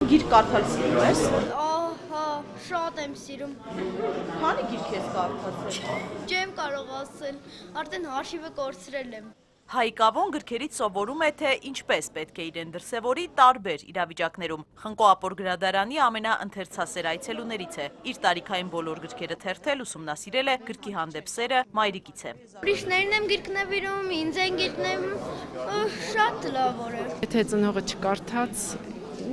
Գիրք կարդալ սիրում ես։ Ահա, շատ եմ սիրում։ Քանի գիրք ես կարդացել։ Չեմ կարող ասել, արդեն հաշիվը կորցրել եմ։ Հայկավոն գրքերից սովորում է, թե ինչպես պետք է իրեն դրսևորի տարբեր իրավիճակներում։ Խնկո Ապոր գրադարանի ամենաընթերցասեր այցելուներից է։ Իր տարիքային բոլոր գրքերը թերթել, ուսումնասիրել է, գրքի հանդեպ սերը մայրիկից է։ Ուրիշներն եմ գիրք նվիրում, ինձ են գիրք նվիրում, շատ լավ է։ Եթե ծնողը չկարդաց,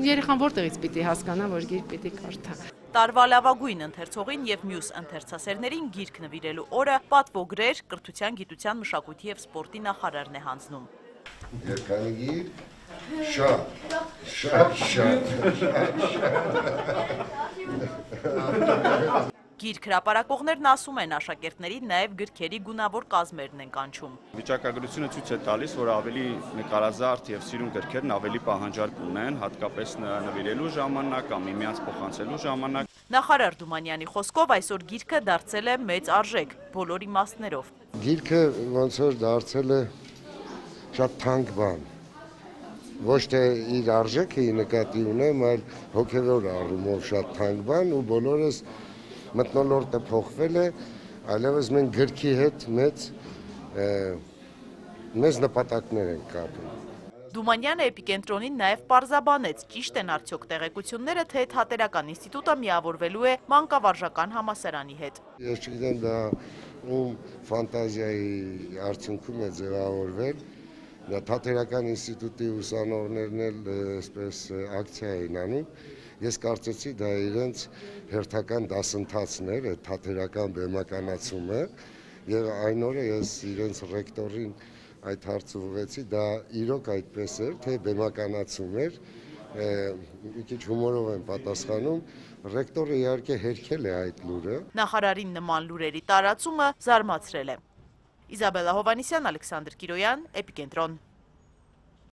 երեխան որտեղից պիտի հասկանա, որ գիրք պիտի կարդա։ Տարվա լավագույն ընթերցողին եւ մյուս ընթերցասերներին գիրք նվիրելու օրը պատվոգրեր կրթության, գիտության, մշակույթի եւ սպորտի նախարարն է հանձնում։ Երկանի գիրք, շատ։ Գիրք հրապարակողներն ասում են, աշակերտներին նաև գրքերի գունավոր կազմերն են կանչում։ Վիճակագրությունը ցույց է տալիս, որ ավելի նկարազարդ եւ սիրուն գրքերն ավելի պահանջարկ ունեն, հատկապես նվիրելու ժամանակ կամ միմյանց փոխանցելու ժամանակ։ Նախարար Դումանյանի խոսքով այսօր գիրքը դարձել է մեծ արժեք բոլոր իմաստներով։ Գիրքը ոնց որ դարձել է շատ թանկ բան։ Ոչ թե իր արժեքը նկատի ունեմ, այլ հոգևոր առումով շատ թանկ բան ու բոլորս մթնոլորտը փոխվել է, այլևս մենք գրքի հետ մեծ նպատակներ ենք կապում։ Դումանյանը Էպիկենտրոնին նաև պարզաբանեց, ճիշտ են արդյոք տեղեկությունները, թե Թատերական ինստիտուտը միավորվելու է մանկավարժական համալսարանի հետ։ Ես չգիտեմ դա ում ֆանտազիայի արդյունքում է ձևավորվել, դա Թատերական ինստիտուտի ուսանողներն էլ այսպես ակցիա էին անում։ Ես կարծեցի դա իրենց հերթական դասընթացն էր, թատերական բեմականացումը, եւ այն օրը ես իրենց ռեկտորին այդ հարցը ուղղեցի, դա իրոք այդպես էր, թե բեմականացում էր, մի քիչ հումորով եմ պատասխանում, ռեկտորը իհարկե հերքել է այդ լուրը։ Նախարարին նման լուրերի տարածումը զարմացրել է։ Իզաբելլա Հովհաննիսյան, Ալեքսանդր Կիրոյան, Էպիկենտրոն։